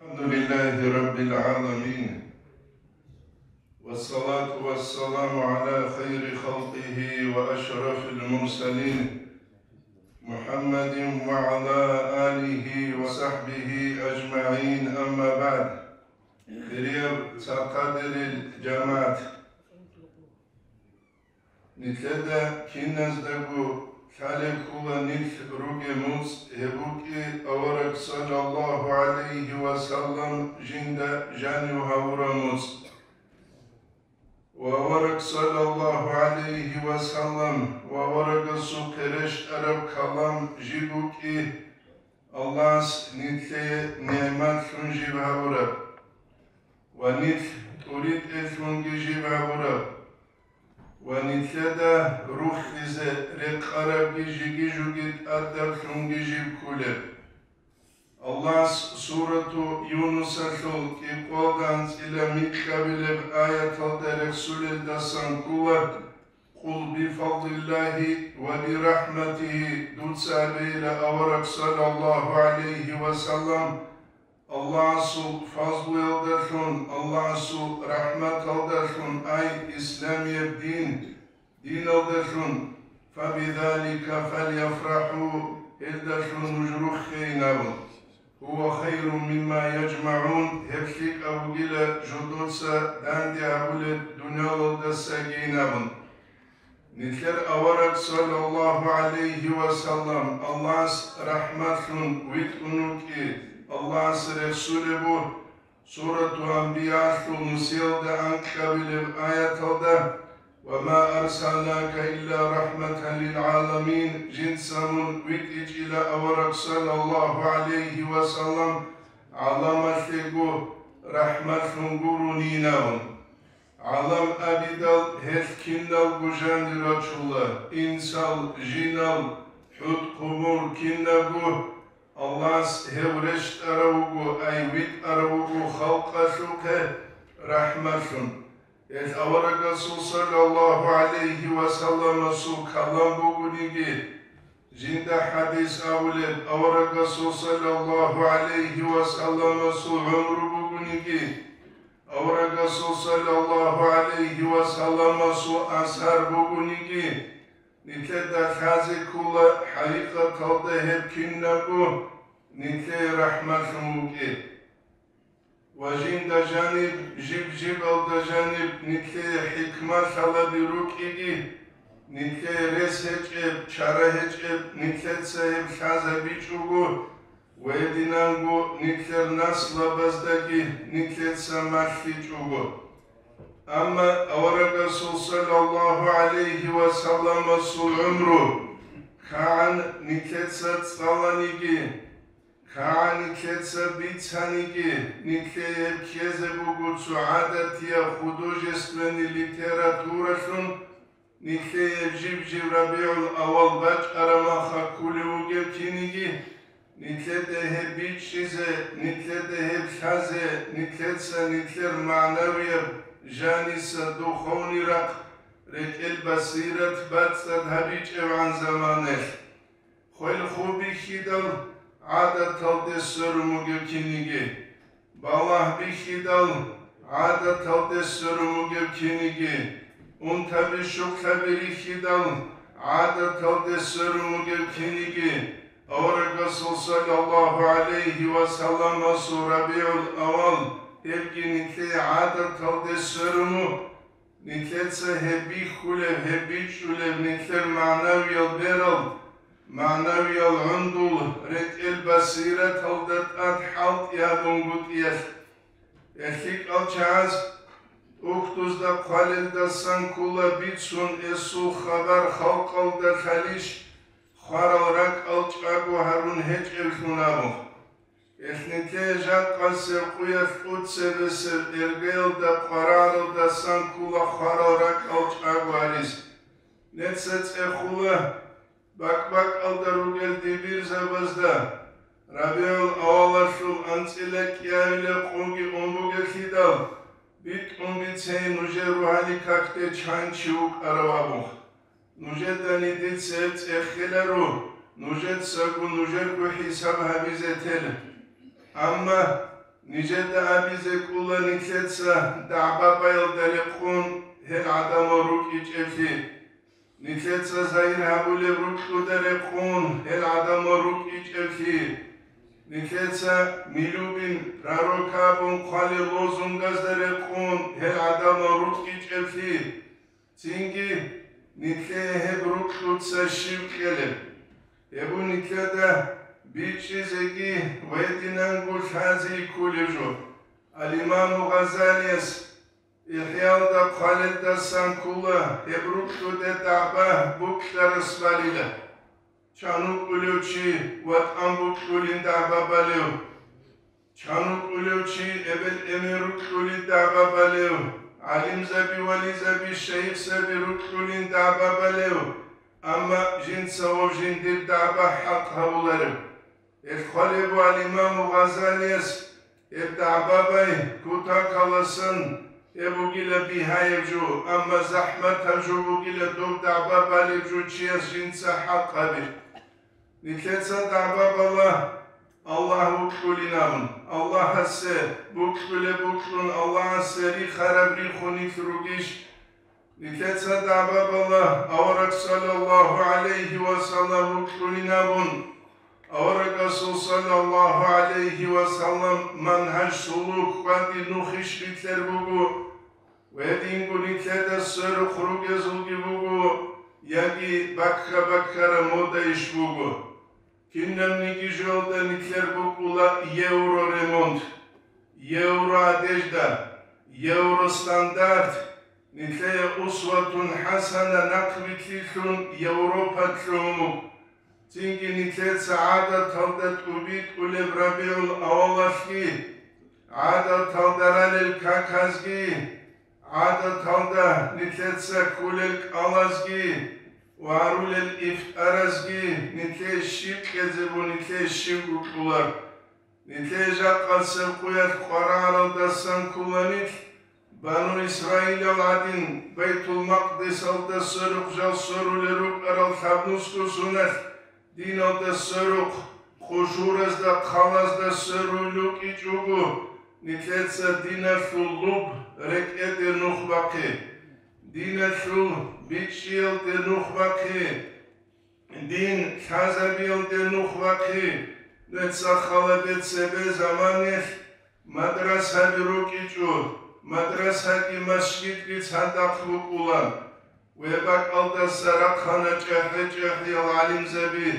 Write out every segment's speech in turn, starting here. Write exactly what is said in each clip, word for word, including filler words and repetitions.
الحمد لله رب العالمين، والصلاة والسلام على خير خلقه وأشرف المرسلين، محمد وعلى آله وصحبه أجمعين، أما بعد. Хирияб цархъадерил жамагӀат, нилъеда киназдаго лъалеб ккола нилъ ругеб моцӀ, гьеб букӀи авараг саллаллагьу гӀалайгьи ва саллам жинда жанив гьавураб моцӀ. Ва авараг саллаллагьу гӀалайгьи ва саллам ва аварагасухъе рещтӀараб калам жиб букӀи, Аллагьас нилъее нигӀматлъун жиб гьавураб ва нилъ тӀуритӀелъунги жиб гьавураб ва нилъеда рухизе рекъарабги жиги-жуги тӀадаблъунги жиб кколеб. Аллагьас сурату Юнусалъул кӀикъоялда анцӀила микьабилеб аяталда рехсулелдасан ккола: «Къул бифадлиллагьи ва бирахӀматигьи», дуца абейила авараг саллаллагьу гӀалайгьи ва саллам, Аллагьасул фазлуялдалъун, Аллагьасул рахӀматалдалъун, ай, исламияб дин, диналдалъун, «фабизалика фальяфрахӀу», гьелдалъун нуж руххейин абун, «гьува хайрун мимма яжмагӀун», гьеб лъикӀаб бугила жодоца данде гьабулеб дуниялалдасагийин абун. Нилъер авараг саллаллагьу гӀалайгьи ва саллам Аллагьас рахӀматлъун витӀун вукӀи, Аллагьас рехсулеб буго, Сурату Анбиялъул нусиялда анкьабилеб аяталда: «Ва ма арсалнака илла рахӀматан лил гӀаламин», жинца мун витӀичӀила авараг саллаллагьу гӀалайгьи ва саллам гӀаламалъего рахӀматлъун гурони абун. ГӀалам абидал гьелъ киналго жанир рачула: инсал, жинал, хӀутӀ-хъубул кинабго. Аллагьас гьев рещтӀарав вуго, ай витӀарав вуго халкъалъухъе рахӀматлъун. Гьелъ аварагасул саллаллагьу гӀалайгьи ва салламасул калам бугониги, жинда хӀадис абулеб аварагасул саллаллагьу гӀалайгьи ва салламасул гӀумру бугониги, аварагасул саллаллагьу гӀалайгьи ва салламасул асар бугониги, нилъеда лъазе ккола хӀакъикъаталда гьеб кинабго нилъее рахӀматлъун вукӀи. Ва жинда жаниб, жиб-жибалда жаниб нилъее хӀикмалъалаби рукӀиги, нилъее рес гьечӀеб, чара гьечӀеб нилъеца гьеб лъазабичӀого, ва гьединанго нилъер наслабаздаги нилъеца малъичӀого. Амма аварагасул саллаллагьу гӀалайгьи ва салламасул гӀумру кагӀан нилъеца цӀаланиги, кагӀан нилъеца бицаниги, нилъее гьеб ккезе буго цо гӀадатияб художественный литературалъун, нилъее жиб-жиб РабигӀул-аввал бачӀараб маха кколев вугев киниги, нилъеда гьеб бичӀчӀизе, нилъеда гьеб лъазе, нилъеца нилъер магӀнавияб жаниса духовный рахъ, рекӀел басират бацӀцӀад гьабичӀебгӀан заманаялъ. Хвел-ху бихьидал гӀадаталде сверун вугев киниги, балагь бихьидал гӀадаталде сверун вугев киниги, унтаби-щуклъаби рихьидал гӀадаталде сверун вугев киниги, аварагасул саллаллагьу гӀалайгьи ва салламасул РабигӀул-аввал гьебги нилъее гӀадаталде сверун вуго. Нилъеца гьеб бихьулеб, гьеб бичӀчӀулеб нилъер магӀнавиял берал, магӀнавиял гӀундул, рекӀел басираталда тӀад хӀалтӀи гьабунгутӀиялъ. ГьелъикӀал чагӀаз тӀухьдузда хъвалелдасан ккола бицун эсул хабар халкъалда лъалищ, хварал ракӀал чӀаго гьарун гьечӀеблъун абун. Гьелъ нилъее жакъасеб къуялъ тӀоцебесеб эргеялда къвараралдасан ккола хварал ракӀал чӀаго гьарис. Нилъеца цӀехола бакӀ-бакӀалда ругел дибирзабазда, РабигӀул-аввалалъул анцӀила кӀиабилеб къоги ун бугелъидал, битӀун бицей нужер рогьалил какде чан чи вукӀарав абун. Нужедани дица гьеб цӀехеларо, нужецаго нужерго хӀисаб гьабизе тела. Амма Нижеда абизе кӀула нилъеца дагӀбабаялда рекъон гьел гӀадамал рукӀичӀеблъи. Нилъеца загьир гьабулеб рукьуда рекъон гьел гӀадамал рукӀичӀеблъи. Нилъеца «Мы любим пророка» абун хъвалел лозунгазда рекъон гьел гӀадамал рукӀичӀеблъи. Цинги нилъее гьеб рукьуца щив кьелеб? Гьеб нилъеда бичӀчӀизеги ва гьединанго лъази кколеб жо. Ал-Имаму Гъазалияс ИхӀялда хъвалелдасан ккола гьеб рукьуде дагӀба букьарас балила. Чан вукӀулев чи ватӀан букьулин дагӀба балев? Чан вукӀулев чи эбел-эмен рукьулин дагӀба балев? ГӀалимзаби-вализаби-шайихзаби рукьулин дагӀба балев? Амма жинца гьав жиндир дагӀба хӀакъ гьавуларев. Гьел хъвалеб буго Ал-Имаму Гъазалияс, гьеб дагӀбабай кутакаласан гьеб бугила бигьаяб жо, амма захӀматаб жо бугила доб дагӀба балеб жо чияс жинца хӀакъ гьаби. Нилъеца дагӀба бала Аллагь вукьулин абун, Аллагьасе букьулеб букьун, Аллагьасе рихараб рихун нилъ ругищ? Нилъеца дагӀба бала авараг саллаллагьу гӀалайгьи ва саллам вукьулин абун, аварагасул саллаллагьу гӀалайгьи ва саллам манхӀаж, сулук, хьвади, нухищ битӀер буго, ва гьединго нилъеда сверухъ ругезулги буго, яги бакка-баккараб модайищ буго. Кинабниги жоялда нилъер букӀула евроремонт, евроодежда, евростандарт, нилъее усватун хӀасана нахъвилълъун Европа лъугьун буго. Цинги нилъеца гӀадаталда тӀубитӀулеб РабигӀул авалалъги, гӀадаталда ралел каказги, гӀадаталда нилъеца кколел кӀалазги ва гьарулел ифтаразги нилъее щиб кьезе буго, нилъее щибго кьула. Нилъее жакъасеб къуялъ къваригӀаралдасан ккола нилъ, Бану Исраилал гӀадин, Байтул-Макъдисалда сверухъ жал сверулел рукӀарал лъабнусго соналъ, диналда сверухъ, къушуразда, хъалазда сверулел рукӀичӀого, нилъеца диналъул лъуб рекӀеде нух бахъе, диналъул бичӀчӀиялде нух бахъе, дин лъазабиялде нух бахъе. Нуца хал гьабе, цебе заманалъ мадрасаби рукӀичӀо, мадрасаги масжидги цадахъ букӀула. Гьеб бакӀалдаса рахъана чӀахӀи-чӀахӀиял гӀалимзаби.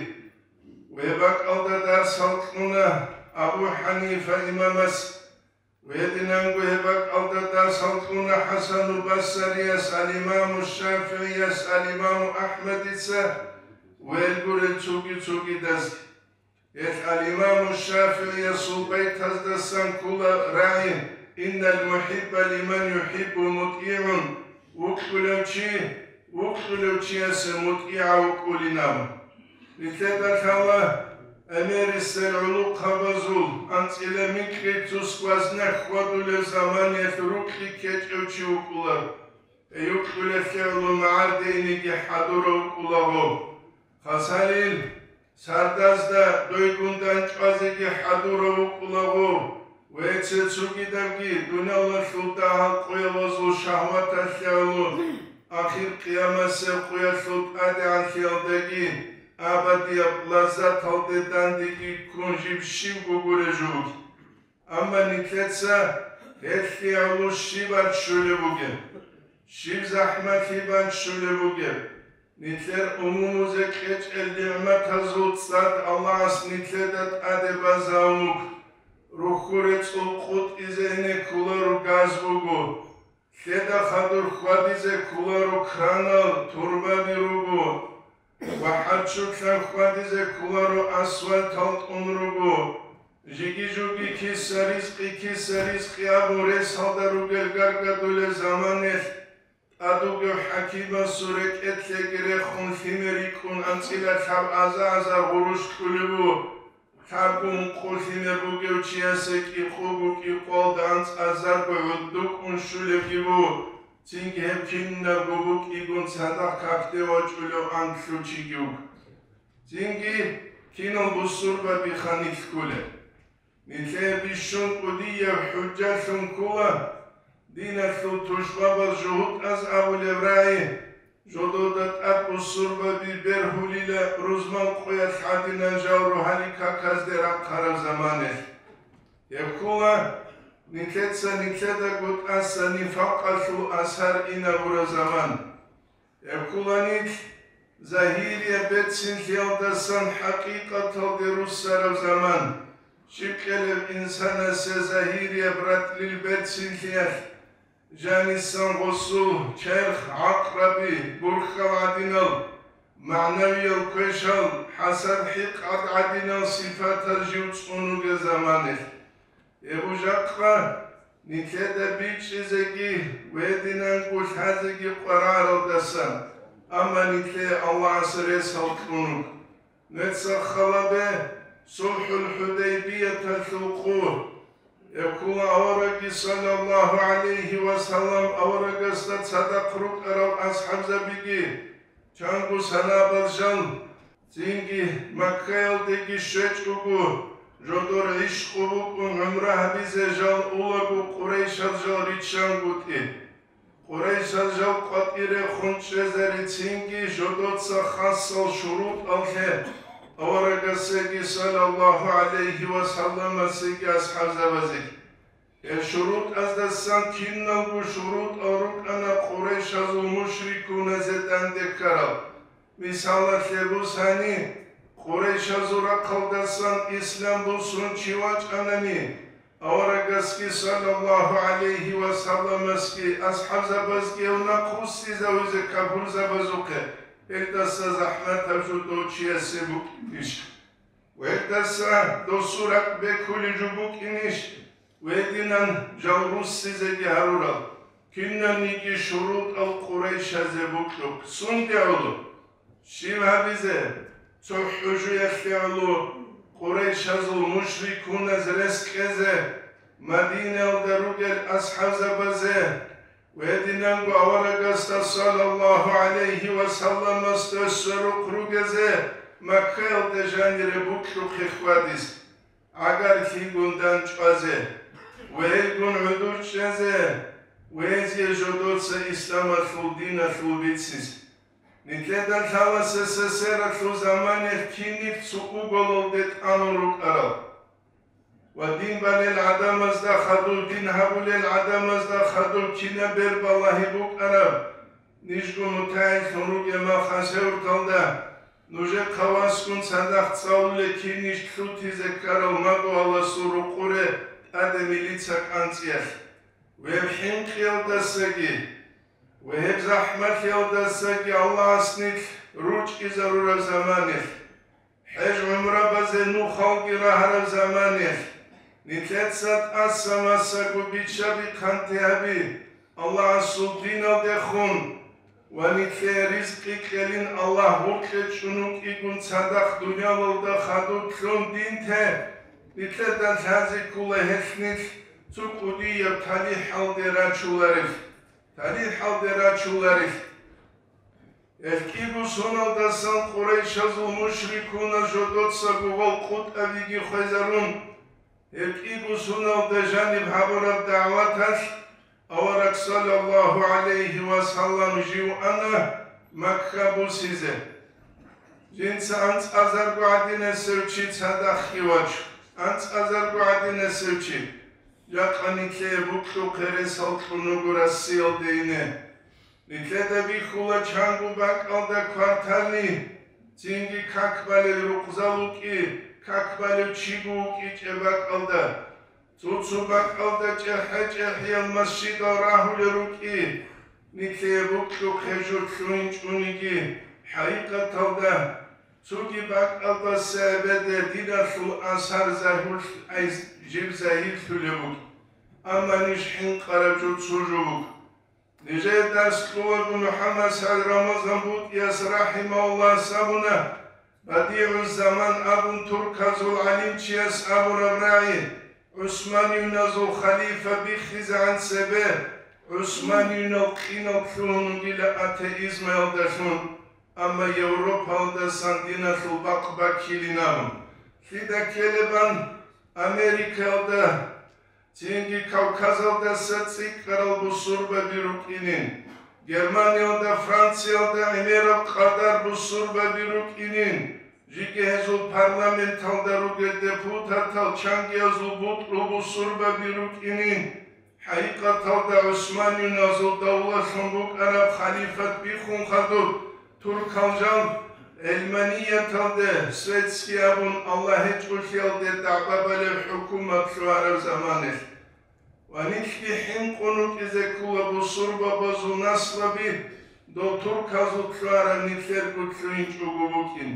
Гьеб бакӀалда дарсал кьуна Абу ХӀанифа имамас. Гьединанго гьеб бакӀалда дарсал кьуна ХӀасану Басарияс, ал-Имаму ШафигӀияс, ал-Имаму АхӀмадица ва гьел гурел цоги-цогидаз. Гьелъ ал-Имаму ШафигӀиясул байтаздасан ккола рагӀи: «Иннал мухӀибба лиман юхӀиббу мутӀигӀун», вукьулев чи, вукьулев чиясе мутӀигӀав вукӀулин абун. Нилъеда лъала гӀемерисел гӀулухъабазул анцӀила микьи цо сквозняк хьвадулев заманаялъ рукьи ккечӀев чи вукӀула. Гьей вукьулелъе гӀоло магӀардейниги хӀадурав вукӀулаго. Хасалил, сардазда дойгун дандчӀвазеги хӀадурав вукӀулаго. Ва цо-цогидабги дуниялалъул дагьал къоялазул шагьваталъе гӀоло, ахир къиямасеб къоялъул тӀадегӀанлъиялдаги абадияб лаззаталде дандеги ккун жиб щибго гуреб жо вугеб. Амма нилъеца гьелъие гӀоло щиб бан щолеб бугеб, щиб захӀмалъи бан щолеб бугеб. Нилъер умумузе кьечӀел нигӀматазул цӀад Аллагьас нилъеда тӀаде базабун буго. Рухьул рецӀул къутӀизе ине кколаро газ буго, лъеда хадур хьвадизе кколаро кранал, турбаби руго, ва хӀаччулъан хьвадизе кколаро асфальтал тӀун руго. Жиги-жуги киса, ризкъи киса, ризкъи абун ресалда ругел гаргадулел заманалъ, тӀад вугев хӀакимасул рекӀелъеги рехун лъимер рикӀкӀун анцӀила лъаб аза-азар гъурущ кьулеб буго. Лъабго ункъо лъимер бугев чиясе кӀикъого кӀикъоялда анцӀазарго гӀодоб кӀун щулебги буго, цинги гьеб кинабго букӀигун цадахъ какде вачӀулев анкьлъучиги вуго. Цинги кинал бусурбаби ханилъ кколеб. Нилъее бищун кӀудияб хӀужжалъун ккола диналъул тушбабаз жугьутӀаз абулеб рагӀи, жодода тӀад бусурбаби бергьулила рузман къоялъ гӀадинан жал рогьалил каказде рахъараб заманалъ. Гьеб ккола нилъеца нилъедаго тӀаса нифакъалъул асар инабураб заман. Гьеб ккола нилъ загьирияб берцинлъиялдасан хӀакъикъаталде руссараб заман. Щиб кьелеб инсанасе загьирияб ратӀлил берцинлъиялъ, жанисан гъосул, черх, гӀакъраби, бурхьал гӀадинал, магӀнавиял квешал, хӀасад-хӀикъат гӀадинал сипатал жив цӀун вугел заманалъ. Гьеб жакъа нилъеда бичӀчӀизеги ва гьединанго лъазеги къваригӀаралдасан, амма нилъее Аллагьас ресал кьун вуго. Нуца халабе сулхӀул ХӀудайбияталъул къо. Гьеб ккола аварагги, саллаллагьу гӀалайгьи ва саллам, аварагасда цадахъ рукӀарал асхӀабзабиги, чанго санабаз жал, цинги Маккаялдеги щвечӀого, жодор гӀишкъу букӀун гӀумра гьабизе жал улаго, къурайшаз жал риччангутӀи. Къурайшаз жал къватӀире хун чӀезарецинги жодоца хасал шурутӀалъе аварагасеги, саллаллагьу гӀалайгьи ва салламасеги асхӀабзабазеги. Гьел шурутӀаздасан киналго шурутӀал рукӀана къурайшазул мушрикуназе данде ккарал. Мисалалъе бусани, къурайшазул рахъалдасан ислам бусун чи вачӀанани, аварагасги, саллаллагьу гӀалайгьи ва салламасги, асхӀабзабазги гьев нахъвуссизавизе капурзабазухъе, гьелдаса захӀматаб жо дов чиясе букӀинищ? Ва гьелдаса досул ракӀ бекулеб жо букӀинищ? Гьединан жал руссизеги гьарурал, кинабниги шурутӀал къурайшазе бокьухъ сунде гӀоло? Щиб гьабизе? Цо хӀужуялъе гӀоло къурайшазул мушрикуназ рес кьезе, Мадинаялда ругел асхӀабзабазе ва гьединанго аварагасда, саллаллагьу гӀалайгьи ва салламасда, сверухъ ругезе Маккаялда жанире бокьухъе хьвадизе. ГӀагарлъигун дандчӀвазе ва гьелгун гӀодор чӀезе, гьезие жодоца исламалъул диналъул бицизе. Нилъеда лъала СССР-алъул заманалъ кинил цо уголалде тӀамун рукӀарал ва дин балел гӀадамазда хадув, дин гьабулел гӀадамазда хадув кинаб бербалагьи букӀараб. Нижго мутагӀиллъун ругеб мехалъ гьев орталда нужехъа васгун цадахъ цӀалулел кинищ лъутизе ккарал магуяласул рукъуре тӀаде милица кӀанцӀиялъ. Гьеб хӀинкъиялдасаги ва гьеб захӀмалъиялдасаги Аллагьас нилъ ручӀизарураб заманалъ. ХӀеж-гӀумрабазе нухалги рагьараб заманалъ, нилъеца тӀаса-масаго биччаби-хъанти гьаби, Аллагьасул диналдехун ва нилъее ризкъи кьелин Аллагь гъоркье чӀун вукӀигун цадахъ дуниялалда хадув лъун дин те, нилъеда лъазе ккола гьелъ нилъ цо кӀудияб талихӀалде рачуларелъ, талихӀалде рачуларелъ. Гьел кӀиго соналдасан къурайшазул мушрикуназ жодоцаго гъол къутӀабиги хвезарун, гьел кӀиго соналда жаниб гьабураб дагӀваталъ авараг саллаллагьу гӀалайгьи ва саллам жив ана Макка бусизе. Жинца анцӀазарго гӀадинасев чи цадахъги вачун, анцӀазарго гӀадинасев чи, жакъа нилъее букьухъе ресал кьун вуго Россиялде ине. Нилъеда бихьула чанго бакӀалда квартални, цинги как балел рукъзал вукӀи, как балев чиго вукӀичӀеб бакӀалда. Цо-цо бакӀалда чӀехӀе-чӀехӀиял масжидал рагьулел рукӀи, нилъее букьухъе жо лъугьинчӀониги, хӀакъикъаталда цоги бакӀалдаса эбеде диналъул асар загьурлъ-, ай, жиб загьирлъулеб букӀ. Амма ниж хӀинкъараб жо цо жо букӀ. Нижее дарс кьолаго МухӀаммад СагӀид Рамазан БутӀияс рахӀимагьуллагьас абуна, БадигӀуззаман абун турказул гӀалимчияс абураб рагӀи, гӀусманиюназул халифа биххизегӀан цебе, гӀусманиюнал къинал лъугьун вугила атеизмаялдалъун, амма Европаялдасан диналъул бакъ баккилин абун. Лъида ккелебан? Америкаялда, цинги Кавказалдаса цӀикӀкӀарал бусурбаби рукӀинин, Германиялда, Франциялда гӀемераб къадар бусурбаби рукӀинин, жеги гьезул парламенталда ругел депутатал чангиязул бутӀрул бусурбаби рукӀинин. ХӀакъикъаталда гӀусманиюназул давлалъун букӀараб халифат биххун хадуб, туркал жал гӀилманияталде, светский абун, Аллагь гьечӀолъиялде дагӀба балеб хӀукумат лъугьараб заманалъ. Ва нилъги хӀинкъун рукӀизе ккола бусурбабазул наслаби, дол турказул лъугьараб нилъерго лъугьинчӀого букӀин.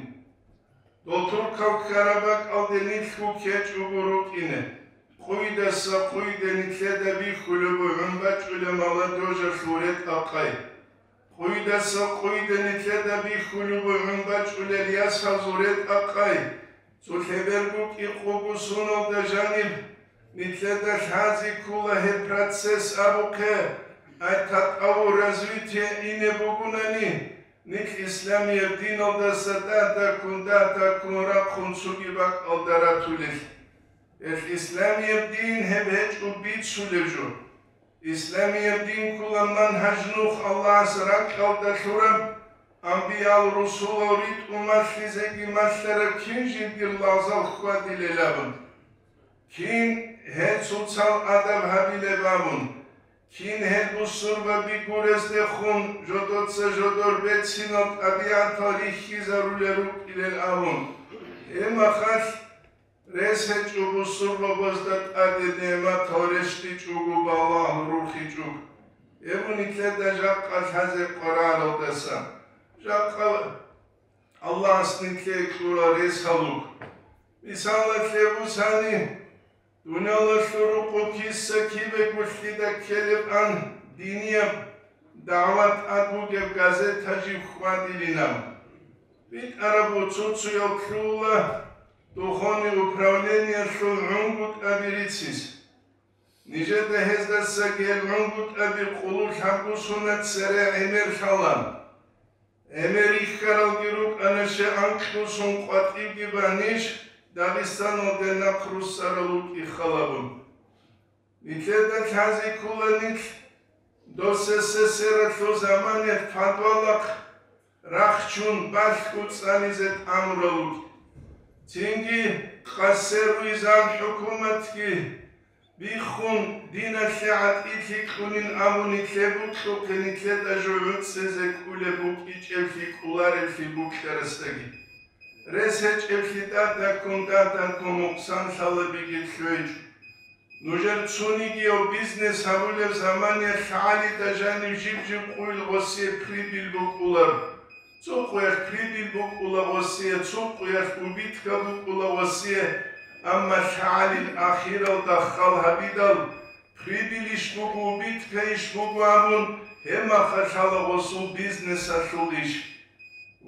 Дол туркал ккараб бакӀалде нилъго ккечӀого рукӀине. Къуйдаса къуйде нилъеда бихьулеб бугӀун бачӀулеб молодёжалъул ретӀа-къай. Къуйдаса къуйде нилъеда бихьулеб бугӀун бачӀулел ясазул ретӀа-къай. Цо лъеберго кӀикъого соналда жаниб нилъеда лъазе ккола гьеб процесс абухъе, ай татӀавул развитие ине бугунани, нилъ исламияб диналдаса дагь-дагьккун, дагь-дагьккун рахъун цоги бакӀалда ратулел. Гьелъ исламияб дин гьеб гьечӀо бицулеб жо. Исламияб дин ккола мангьаж нух Аллагьас ракьалда лъураб, анбиял-русулал ритӀун малъизеги малъараб кин жиндир лагъзал хьвадилел абун. Кин гьел цоцал адаб гьабилеб абун, кин гьел бусурбаби гурездехун жодоца жодор бецинал тӀабигӀатал рихьизарулел рукӀилел абун. Гьеб мехалъ рес гьечӀо бусурбабазда тӀаде нигӀматал рещтӀичӀого, балагь рухичӀого. Гьеб нилъеда жакъа лъазе къваригӀаралдасан, жакъа Аллагьас нилъее кьурал рес гьалуг. Мисалалъе бусани, дуниялалъул рукъу киса кибего лъида ккелеб ан динияб дагӀват тӀад бугеб газета жиб хьвадилинаб. БитӀараб буцуцуял кьула духовный управлениялъул гӀунгутӀаби рицис. Нижеда гьездаса гьел гӀунгутӀаби къулулъ гьабгусуна цере гӀемер лъала. ГӀемер рихьаралги рукӀана, щай анкьусун къватӀибги банищ Дагъистаналде нахъ руссарал вукӀи халабун. Нилъеда лъазе ккола нилъ дов СССР-алъул заманаялъ подвалахъ рахчун балъго цӀализе тӀамурал вукӀи. Цинги къассервизан хӀукуматги биххун, диналъе гӀатӀилъи кьунин абун, нилъер букьухъе нилъеда жо гӀуцӀизе кӀолеб букӀинчӀеблъи кӀоларевлъи букьарасдаги. Рес гьечӀеблъи тӀадаккун, тӀадаккун мукъсан лъалеб бугеб лъугьинчӀо. Нужер цонигияв бизнес гьабулеб заманаялъ лъагӀалида жанив жиб-жиб къуйил гъосие прибыль букӀулар. Цо къуялъ прибыль букӀула гъосие, цо къуялъ убытка букӀула гъосие, амма лъагӀалил ахиралда хал гьабидал, прибыль иш буго, убытка иш буго абун, гьеб мехалъ лъала гъосул бизнесалъул иш.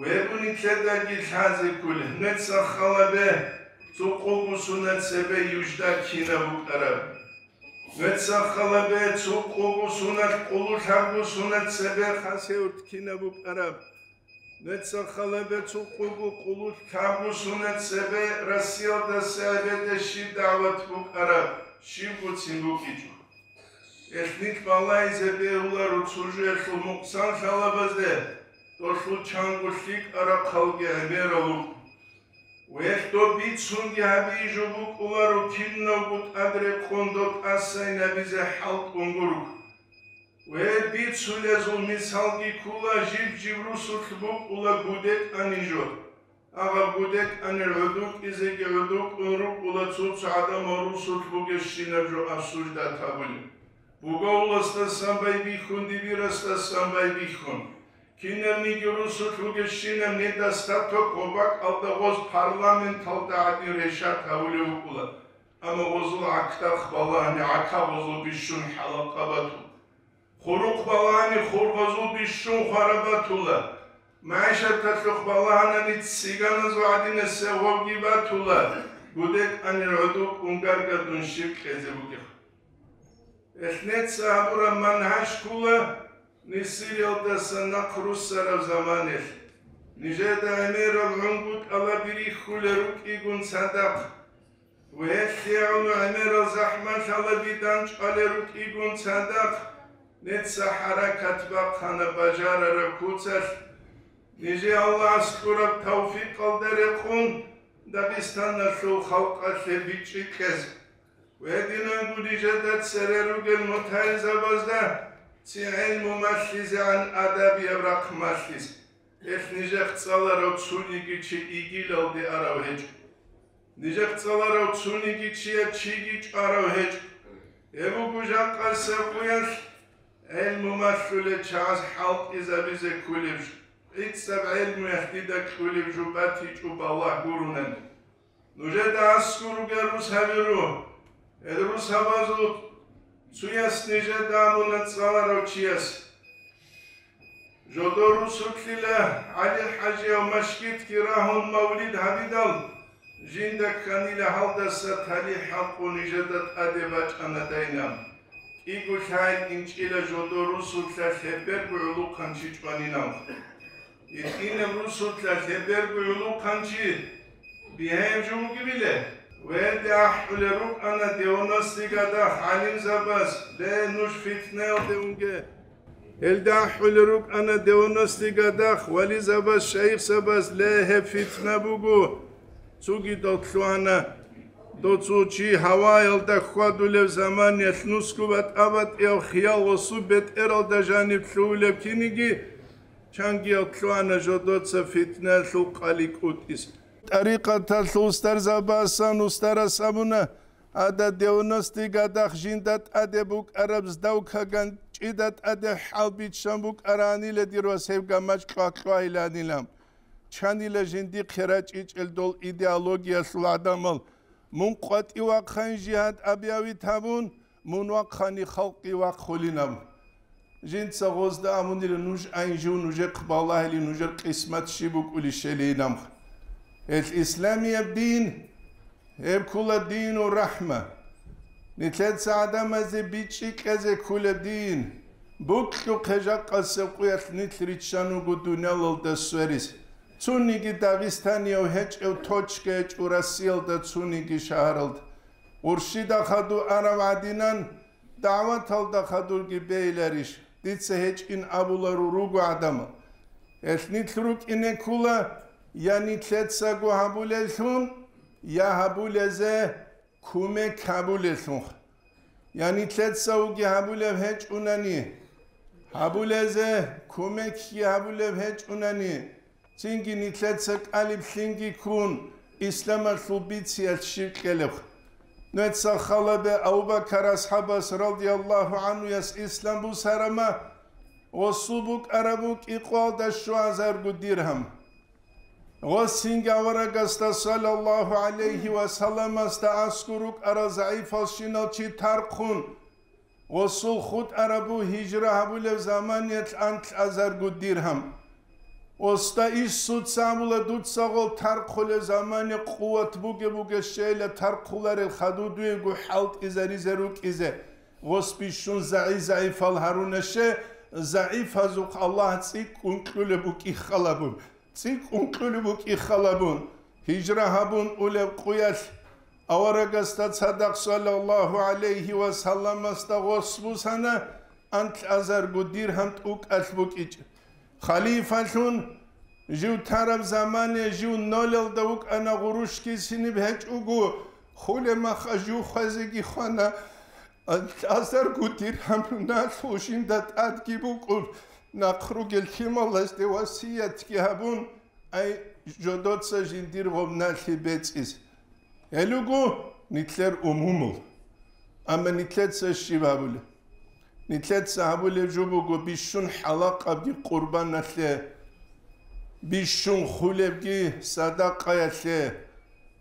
Вегун нилъедаги лъазе кколеб, нуца халабе цо къого сунат цебе Южда кинаб букӀараб. Нуца халабе цо къого сунат къулу лъабго сунат цебе Хасавюрт кинаб букӀараб. Нуца халабе цо къого къулу лъабго сунат цебе Россиялдаса эбеде щиб дагӀват букӀараб, щибгоцин букӀичӀо. Гьелъ нилъ балагьизе бегьуларо цо жоялъул мукъсан лъалабазде, долъул чанго лъикӀа рахъалги гӀемерал рукӀун. Гьелъ доб бицунги гьабизе жо букӀуларо, кинавго тӀад рекъон доб тӀасайин гьабизе хӀалтӀун гурого. Гьеб бицулезул мисалги ккола, жиб-жиб русулъ букӀула гудекӀанин жо. Агъаб гудекӀанил гӀодокӀизеги гӀодокӀун рукӀула цо-цо гӀадамал русулъ бугебщинаб жо обсуждать гьабулеб. Бугавуласдасан байбихьун, дибирасдасан байбихьун. Кинабниги русулъ бугебщинаб недостаток ва бакӀалда гъоз парламенталда гӀадин решать гьабулеб букӀула. Амма гъозул гӀакдахъ балагьани гӀака гъозул бищун хӀалакъа батун. Хурухъ балагьани хургъазул бищун хвараб батула, магӀишаталъухъ балагьанани цӀиганазул гӀадинасеб гъобги батула, гудекӀанил гӀодокӀун гаргадун щиб кьезе бугеб. Гьелъ нуца гьабураб мангьаж ккола Сириялдаса нахъ руссараб заманалъ. Нижеда гӀемерал гӀунгутӀаби рихьулел рукӀигун цадахъ. Гьелъ ГӀемерал захӀмалъала дидан чӀвалел рукӀигун цадахъ, нижеца хӀаракат бахъана бажарараб куцалъ. Нижее Аллагьас кьураб тавфикъалда рекъон Дагъистаналъул халкъалъе бичӀчӀи кьезе. Гьединанго нижеда цере ругел мутагӀилзабазда ци гӀелму малъизегӀан адабияб рахъ малъизе. Гьелъ нижехъ цӀаларав цониги чи игилалде арав гьечӀо. Нижехъ цӀаларав цониги чияс чиги чӀварав гьечӀо. Гьеб буго жакъасеб къуялъ гӀелму малъулел чагӀаз хӀалтӀизабизе кколеб жо. ГӀицӀаб гӀелмуялъ дида кьолеб жо батичӀо балагь гуронани. Нужеда аскӀор ругел рус гьабиру. Гьел рус гьабазул цояс нижеда абуна цӀаларав чияс. Жодор русулъила ГӀали-хӀажияв машгитги рагьун мавлид гьабидал, жинда кканила гьалдаса талихӀ хӀалкъун нижеда тӀаде бачӀана дайнаб. КӀиго лъагӀел инчӀила жодор русулъа лъеберго гӀулухъанчи чӀванинав. ГьитӀинаб русулъа лъеберго гӀулухъанчи бигьаяб жо бугебила? Гьелде ахӀулел рукӀана девяностый годах гӀалимзабаз: «Ле, нуж фитнаялде унге». Гьелде ахӀулел рукӀана девяностый годах вализабаз, шайихзабаз: «Ле, гьеб фитна буго». Цогидал лъугьана: «Доцо чи гьаваялда хьвадулев заманиялъ нусго батӀа-батӀияв хиял гъосу бетӀералда жаниб лъугьулеб киниги». Чангиял лъугьана жодоца фитнаялъул къали кӀутӀизе. ТӀарикъаталъул устарзабасан устарас абуна: «Гьада девяностый годах жинда тӀаде букӀараб сдавкаган чӀида тӀаде хӀалбиччан букӀаранила, дир вас, гьеб гамачӀ кьвакьвайиланилан». Чанила жиндихъе рачӀичӀел дол идеологиялъул гӀадамал: «Мун къватӀив вахъайин жигьад абиявит гьабун, мун вахъани халкъи вахъулинаб». Жинца гъозда абунила: «Нуж айин жив нужехъ балагьили, нужер къисмат щиб букӀулищали инамха». Гьел исламияб дин, гьеб ккула дину рахӀма. Нилъеца гӀадамазе бичӀчӀи кьезе ккула дин. Бокьухъе жакъасеб къуялъ нилъ риччан руго дуниялалда сверис. Цониги дагъистанияв гьечӀев точка гьечӀо Россиялда, цониги шагьаралда. Гъурщида хадув арав гӀадинан, дагӀваталда хадурги бейиларищ? Дица гьечӀин абулару руго гӀадамал. Гьелъ нилъ рукӀине ккула я нилъецаго гьабулеллъун, я гьабулезе кумек гьабулеллъунха. Я нилъецаоги гьабулеб гьечӀунани, гьабулезе кумекги гьабулеб гьечӀунани, цинги нилъеца кӀалиблъинги ккун, исламалъул бициялъ щиб кьелеб? Нуца халабе Абу-Бакар асхӀабас радияллагьу гӀанхуяс ислам бусарама, гъосул букӀараб букӀи къоялда щуазарго диргьам. Гъос цинги аварагасда саллаллагьу гӀалайгьи ва салламасда аскӀор рукӀарал загӀипалщинал чи тархъун, гъосул хутӀарабу гьижра гьабулеб заманиялъ анлъазарго диргьам. Гъосда Иисуца абула: «Дуца гъол тархъулеб замани къуват бугеб-бугебщейила тархъуларел хадув дуего хӀалтӀизаризе рукӀизе». Гъос бищун загӀи-загӀипал гьаруна, ще, загӀипазухъ Аллагь цӀикӀкӀун кьулеб букӀи халабун. ЦӀикӀкӀун кьулеб букӀи халабун, гьижра гьабун улеб къуялъ аварагасда цадахъ саллаллагьу гӀалайгьи ва салламасда гъос бусана анлъазарго диргьам тӀукӀалъ букӀичӀеб. Халифалъун жив тараб замане жив нолелда вукӀана, гъурущ кисиниб гьечӀого, хулеб маха жив хвезеги хвана. Анлъазарго диргьам налъул жинда тӀадги букӀун, нахъ ругел лъималазде васиятги гьабун, ай, жодоца жиндир гъоб налъи бецӀизе. Гьел руго нилъер умумул. Амма нилъеца щиб гьабулеб? Нилъеца гьабулеб жо буго бищун хӀалакъабги къурбаналъе, бищун хулебги садакъаялъе.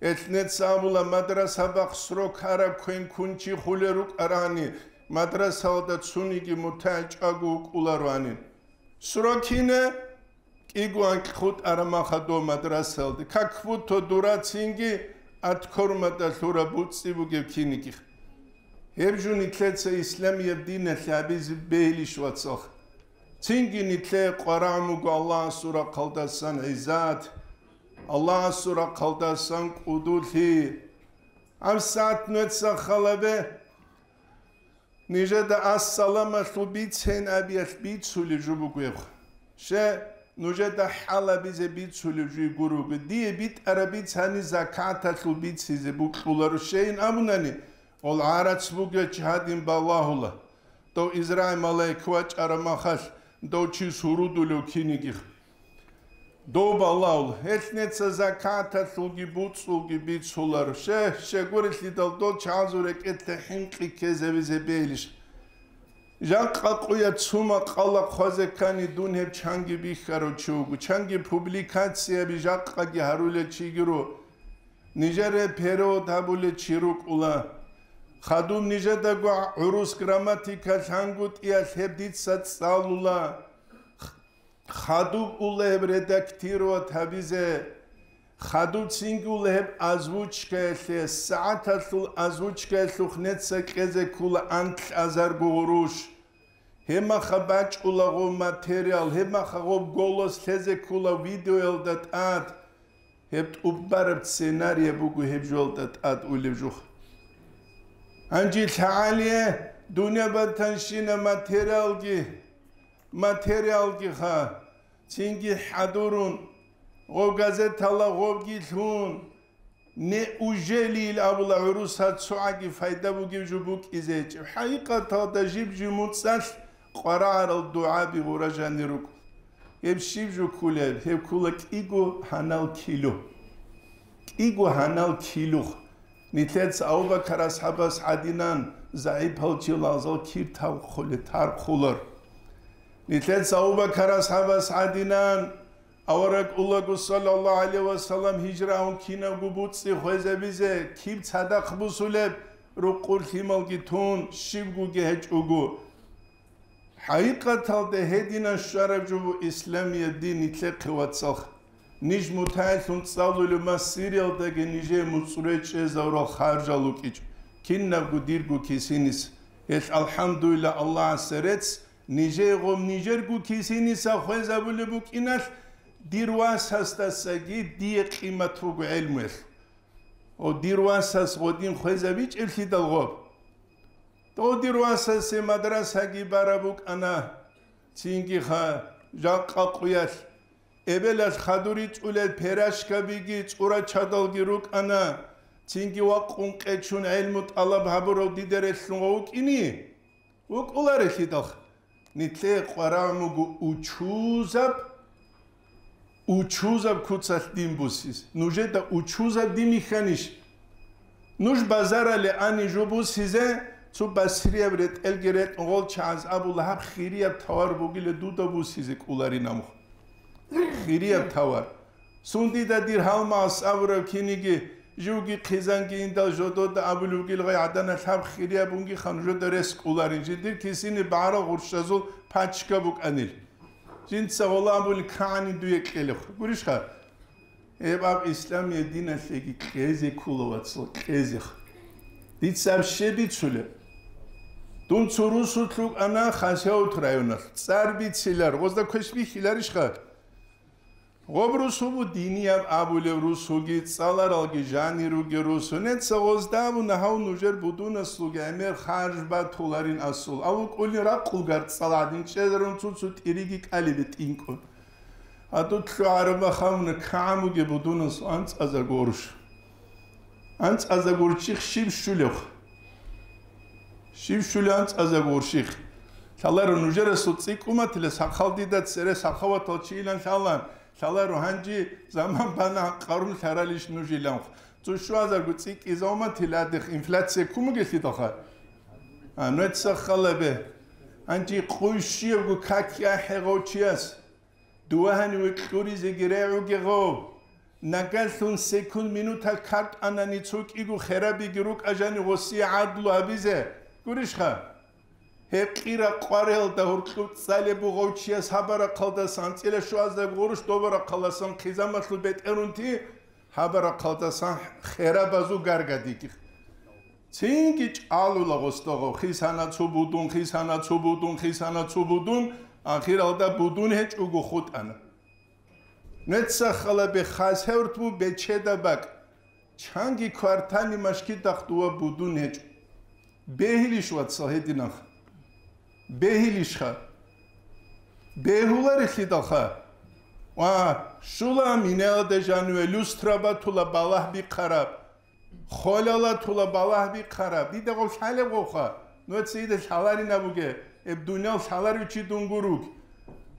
Гьелъ нуца абула, мадраса бахъ срок гьараб квен ккун чи хулел рукӀарани, мадрасалда цониги мутагӀи чӀаго вукӀулароанин. Срок гьина кӀиго анкь хутӀараб махадо мадрасалда, как будто дура цинги откормада лъураб буцӀцӀи бугеб кинигих. Гьеб жо нилъеца исламияб диналъе гьабизе бегьилищ, вацал? Цинги нилъее къварагӀун буго Аллагьасул рахъалдасан гӀиззат, Аллагьасул рахъалдасан кӀудулъи. ГьабсагӀат нугьеца халабе нижеда ассаламалъул бицен абиялъ бицулеб жо бугеб. Ще, нужеда хӀалабизе бицулеб жо гуруго. Дие битӀараб бицани закаталъул бицизе букьуларо щейин абунани, гъол гӀарац бугев чи гьадин балагьула. Дов Израил малаик вачӀараб махалъ, дов чи сурудулев кинигих. Дов балагьул, гьелъ неца закаталъулги буцӀулги бицулар. Ще, щегурелъидал дол чагӀазул рекӀелъе хӀинкъи ккезавизе бейилищ? Жакъа къуя цума къала хъвазе ккани дун гьеб чанги бихьарав чи вуго, чанги публикацияби жакъаги гьарулел чиги ру. Нижере перевод гьабулел чи рукӀула. Хадуб нижедаго гӀурус грамматика лъангутӀиялъ гьеб дица цӀалула. Хадуб ула гьеб редактировать гьабизе, хадуб цинги ула гьеб озвучкаялъе, сагӀаталъул озвучкаялъухъ неца кьезе ккула анкь азарго гъурущ. Гьебмаха бачӀула гъов материал, гьебмаха гъов голос лъезе ккула видеоялда тӀад. Гьеб тӀубараб сценария буго гьеб жолда тӀад улеб жух. Гьанже лъагӀалие дунъя батанщина материалги, материалги ха, цинги хӀадурун, гъов газетала гъовги лъун, неужели ил абула гӀуруса цогӀаги пайда бугеб жо букӀизе гьечӀеб? ХӀакъикъаталда жиб-жиб муцӀалъ къварагӀарал дугӀаби гъура жанир рукӀ. Гьеб щиб жо ккулеб? Гьеб ккула кӀиго гьанал килу. КӀиго гьанал килух. Нилъеца Абу-Бакар асхӀабас гӀадинан загӀипал чилазул кир тавхъуле тархъулар. Нилъеца Абу-Бакар асхӀабас гӀадинан авараг улаго, саллаллагьу гӀалайгьи ва саллам, гьижра гьун кинабго буцӀи хвезабизе киб цадахъ бусулеб, рукъур лъималги тун, щибгоги гьечӀого. ХӀакъикъаталда гьединан щвараб жо буго исламияб дин, нилъехъе вацалха. Ниж мутагӀиллъун цӀалулеб ма Сириялдаги нижее муцӀрой чӀезавурал харжал рукӀичӀ, кинабго дирго кисиниса. Гьелъ, алхӀамдулиллагь, Аллагьасе рецц, нижее гъоб нижерго кисиниса хвезабулеб букӀиналъ, дир васасдасаги дие къимат буго гӀелмуялъ. О, дир васас гъодин хвезабичӀеблъидал гъоб. Дов дир васасе мадрасаги бараб букӀана, цинги ха, жакъа къуялъ. Эбелалъ хадур ричӀулел перашкабиги цӀурачадалги рукӀана, цинги вакъун къечун гӀелму тӀалаб гьабурав дида релълъун ва вукӀини? ВукӀуларелъидалха. Нилъее къварагӀун буго учузаб, учузаб куцалъ дин бусиз. Нужеда учузаб дин бихьанищ? Нуж базарале ани жо бусизе, цо басрияб ретӀелги ретӀун гъол чагӀаз абула, гьаб хирияб тавар бугила дуда бусизе кӀоларин амухъ. Хирияб тавар. Сун дида дир гьалмагъас абураб киниги, живги хъизанги индал жодода абулев вугил гъай гӀаданалъ гьаб хирияб бугиха нужеда рес кӀоларин, жиндир кисини багӀарал гъурщазул пачка букӀанил. Жинца гъола абулин кагӀани дуе кьелехъ. Гурищха? Гьеб аб исламия диналъеги кьезе ккола, вацал, кьезех. Дица аб щиб бицулеб? Дун цо русулъ вукӀана Хасавюрт районалъ. ЦӀар бицилар, гъозда квеш бихьиларищха? Гъоб русу бу динияб абулев русуги, цӀаларалги жанир ругел русу. Неца гъозда абуна гьав нужер будунаслуги гӀемер харж батуларин асул. Аву кӀулин ракъулгар цӀал гӀадин чӀезарун цуцу тӀириги кӀалибе тӀинкӀун. Гьадуд лъугӀараб махамуна кагӀамуге будунас анцӀаза горш. АнцӀаза гурчӀихъ щиб щулев? Щиб щулев анцӀаза гурчӀихъ? Лъаларо нужерасул цӀикӀкӀуматила сахал дида цере сахаватал чилан лъалан, лъаларо гьанжи заман бана къарун лъаралищ нужиланхъ. Цо щуазарго цӀикӀкӀизавматила дихъ инфляция кумугелъидалха. А, нуца халабе. Гьанжи къуй щиявго как яхӀе гъов чияс. Дувагьани векьуризеги регӀуге гъов. Нагалъун секунд-минутал картӀанани цо кӀиго херабиги рукӀа жани гъосие гӀадлу гьабизе. Гурищха? Гьеб кьира къварелда гьуркьуб цӀалеб бугъав чияс гьабарахъалдасан анцӀила щуазда гъурущ добарахъалдасан хъизамалъул бетӀерунти гьабарахъалдасан херабазул гаргадигих. Цинги чӀалула гъосдогъо, хисана цо будун, хисана цо будун, хисана цо будун, ахиралда будун гьечӀого хутӀана. Нуца халабе Хасавюрт бу бечеда бакӀ. Чанги квартальный машгидахъ дова будун гьечӀо. Бегьилищ, вацал, гьединанха? Бегьилищха? Бегьуларелъидалха. Ва щула минелда жаниве люстра батула балагь бихъараб, холела тула балагь бихъараб. Дида гъов лъалеб гъовха. Нуца ида лъаларина буге, эб дуниял лъаларев чи дун гуруг.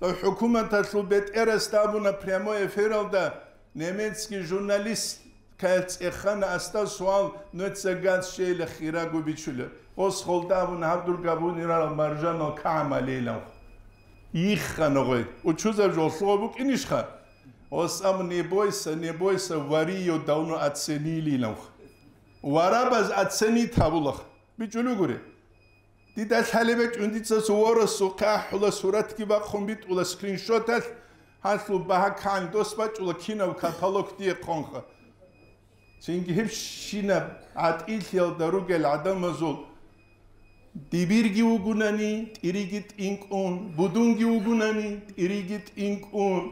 Дов хӀукуматалъул бетӀерас абуна прямой эфиралда, немецкий журналист кайцӀехана аста суал, нуца газ щейла хирагу бичулев. Ос холдабун гьаб дур габунирал маржанал кагӀамалейилан. Йиххана гъой. Учузаб жолъугъа букӀинищха? Ос абу: «Не бойся, не бойся, вари её давно оценилилан». Варабаз оценить гьабулах. БичӀулугури. Дида лъалеб бачӀун дица суворосухъе ахӀула суратги бахъун битӀула скриншоталъ, гьалъул багьа кан дос бачӀула кинаб каталог дие хъонха. Цинги гьеб щинаб гӀатӀилъиялда ругел гӀадамазул дибирги вугунани, тӀириги тӀинкӀун, будунги вугунани, тӀириги тӀинкӀун.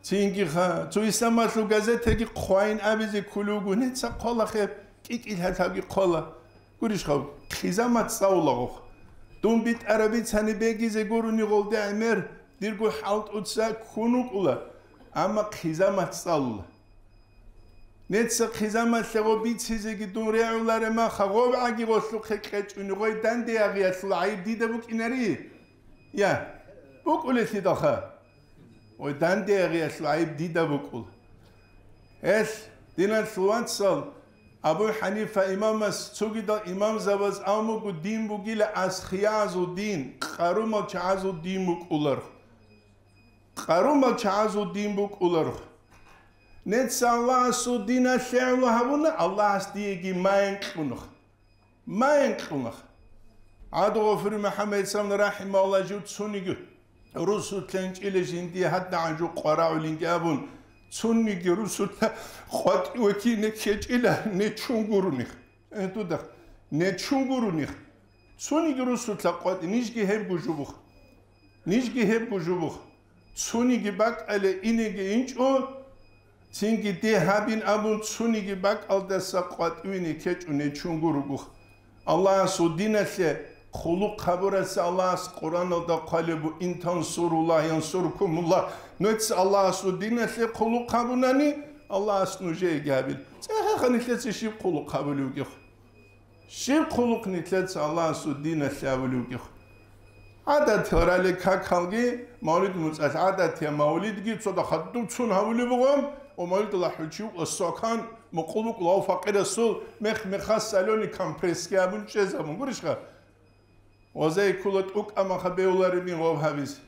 Цинги ха, цо исламалъул газетаги хъвайин абизе кколев вуго, нуца хъвалахъе, кӀикӀил гьалъабги хъвала. Гурищ хав, хъизамат цӀалулагъухъ. Дун битӀараб бицани бегизе гурони гъолде гӀемер, дирго хӀалтӀуца ккун вукӀула, амма хъизамат цӀалула. Нуца хъизамалъе гъо бицизеги дун регӀуларема, хагъовгӀаги гъолъухъе кьечӀуни гъой данде ягъиялъул гӀайиб дида букӀинари? Я, букӀулелъидалха. Ой, данде гьегъиялъул гӀайиб дида букӀула. Гьелъ, диналъул вацал, Абу ХӀанифа имамас цогидал имамзабаз абун буго, дин бугила асхиязул дин, къарумал чагӀазул дин букӀуларх. Къарумал чагӀазул дин букӀуларх. Нуца Аллагьасул диналъе гӀоло гьабуна, Аллагьас диеги майин кьунах. Майин кьунах. ГӀадугъафури МухӀаммад Исамна рахӀимагьуллагь жив цониги русулъа инчӀила жиндие гьадагӀан жо къварагӀулинги абун, цониги русулъа къватӀиве кине ккечӀила нечун гуроних. Э, дудах, нечун гуроних. Цониги русулъа къватӀи, нижги гьебго жубух. Нижги гьебго жубух. Цониги бакӀале инеги инчӀо, цинги де гьабин абун, цониги бакӀалдаса къватӀивине ккечӀо нечунго ругух. Аллагьасул диналъе хъулухъ гьабураса Аллагьас Къуръаналда хъвалеб бу: «Ин тансуруллагь янсуркумуллагь». Нуца Аллагьасул диналъе хъулухъ гьабунани, Аллагьас нужееги гьабил. ЦӀехеха нилъеца щиб хъулухъ гьабулевгихъ? Щиб хъулухъ нилъеца Аллагьасул диналъе гьабулевгихъ? ГӀадат гьарали какалги, мавлид муцӀалъ гӀадатия мавлидги цода хадуб цун гьабулеб бугъан, ва мавлидалъ хӀучив ва сокан мукъулукъ лав факъирасул мех-мехас соленый компрессги абун чӀезабун гурищха? Гъозей ккула тӀукӀамаха бевларибин гъов гьабизе.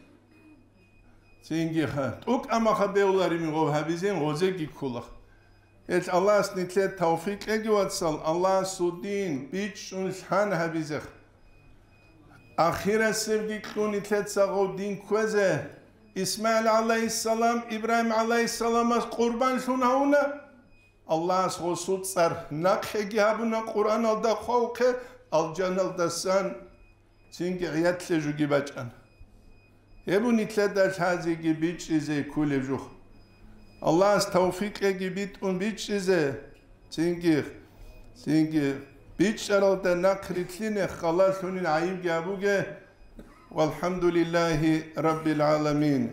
Цинги ха, тӀукӀамаха бевларибин гъов гьабизин гъозеги ккула. Гьел Аллагьас нилъер тавфикъ кьеги, вацал, Аллагьасул дин бичӀчӀун лъан гьабизех. Ахирасебги кьун нилъеца гъов дин кквезе. ИсмагӀил гӀалайгьиссалам Ибрагьим гӀалайгьиссаламас къурбанлъун гьавуна. Аллагьас гъосул цӀар нахъеги гьабуна Къуръаналда хъвавухъе, алжаналдасан цинги гӀиятлъе жуги бачӀана. Гьеб нилъеда лъазеги бичӀчӀизе кколеб жух. Аллагьас тавфикъеги битӀун бичӀчӀизе, цинги, цинги бичӀчӀаралда нахърилълъине халалъунин гӀайибги абуге. Валхамдулиллагьи раббил гӀаламин.